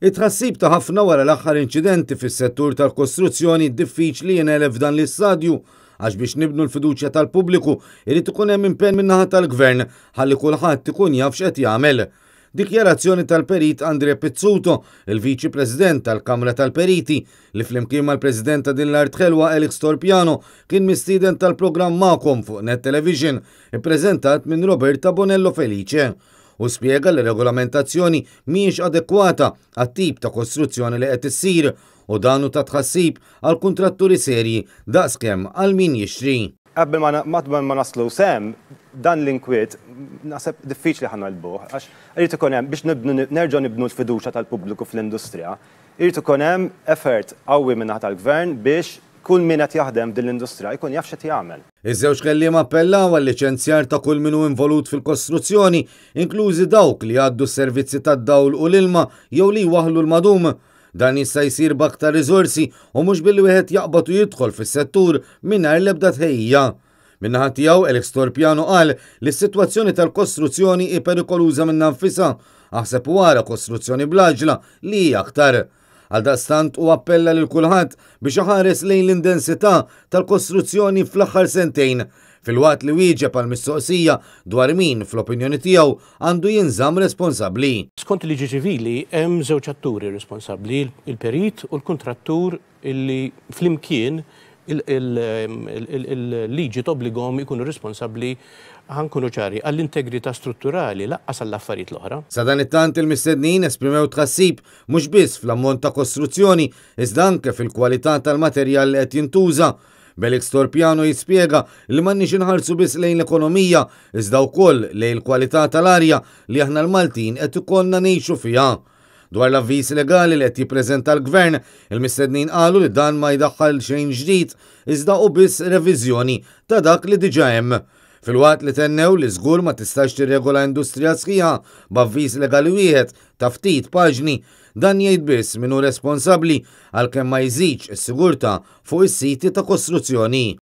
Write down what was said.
It-tħassib ta' ħafna wara l-aħħar inċidenti fis-settur tal-kostruzzjoni diffiċli jingħeleb f'dan l-istadju għax biex nibnu l-fiduċja tal-pubbliku irid ikun hemm impenn min-naħa tal-Gvern ħalli kulħadd ikun jaf x'qed jagħmel. Dikjarazzjoni tal-Perit Andre Pizzuto, il-Viċi President tal-Kamra tal-Periti, li flimkien mal-President ta' din l-art ħelwa Alex Torpiano kien mistieden tal-programm Magħkom fuq Net Television, ippreżentat minn Roberta Bonello Felice. Hu spjega li regolamentazzjoni mhijiex adekwata għat-tip ta' kostruzzjoni li qed issir u dan hu ta' tħassib għal kuntratturi serji daqskemm għal min jixtri. Qabel ma naslu s'hemm, dan l-inkwiet naħseb diffiċli ħa negħlbuh għax irid ikun hemm biex nerġgħu nibnu l-fiduċja tal-pubbliku fl-industrija, irid ikun hemm effort qawwi min-naħa tal-Gvern biex kull min qed jaħdem f'din l-industrija jkun jaf x'qed jagħmel. Iż-żewġ kelliema appellaw għal-liċenzjar ta' kull min hu involut fil-kostruzzjoni, inklużi dawk li jgħaddu s-servizzi tad-dawl u l-ilma jew li jwaħħlu l-madum. Dan jista' jsir b'aktar riżorsi u mhux billi wieħed jaqbad u jidħol fis-settur mingħajr l-ebda tħejjija. Min-naħa tiegħu Alex Torpiano qal li s-sitwazzjoni tal-kostruzzjoni hi perikoluża minnha nfisha, aħseb u ara kostruzzjoni bl-għaġla li hi aktar. Għaldaqstant hu appella lil kulħadd biex iħares lejn l-indensità tal-kostruzzjoni fl-aħħar sentejn, filwaqt li wieġeb għal mistoqsija dwar min, fl-opinjoni tiegħu, għandu jinżamm responsabbli. Skont il-liġi ċivili hemm żewġ atturi responsabbli, il-perit u l-kuntrattur illi flimkien il-liġi tobbligahom ikunu responsabbli, ħa nkunu ċari, għall-integrità strutturali lanqas għall-affarijiet l-oħra. Sadanittant il-mistednin esprimew tħassib mhux biss fl-ammont ta' kostruzzjoni iżda anke fil-kwalità tal-materjal li qed jintuża. B'Alex Torpiano jispjega li m'għandniex inħarsu biss lejn l-ekonomija iżda wkoll lejn il-kwalità tal-arja li aħna l-Maltin qed ikollna ngħixu fiha. Dwar l-avviż legali li qed jippreżenta l-Gvern, il-mistednin qalu li dan ma jdaħħal xejn ġdid iżda hu biss reviżjoni ta' dak li diġà hemm. Filwaqt li tennew li żgur ma tistax tirregola industrija sħiħa b'avviż legali wieħed ta' ftit paġni, dan jgħid biss min hu responsabbli għalkemm ma jżidx is-sigurtà fuq is-siti ta' kostruzzjoni.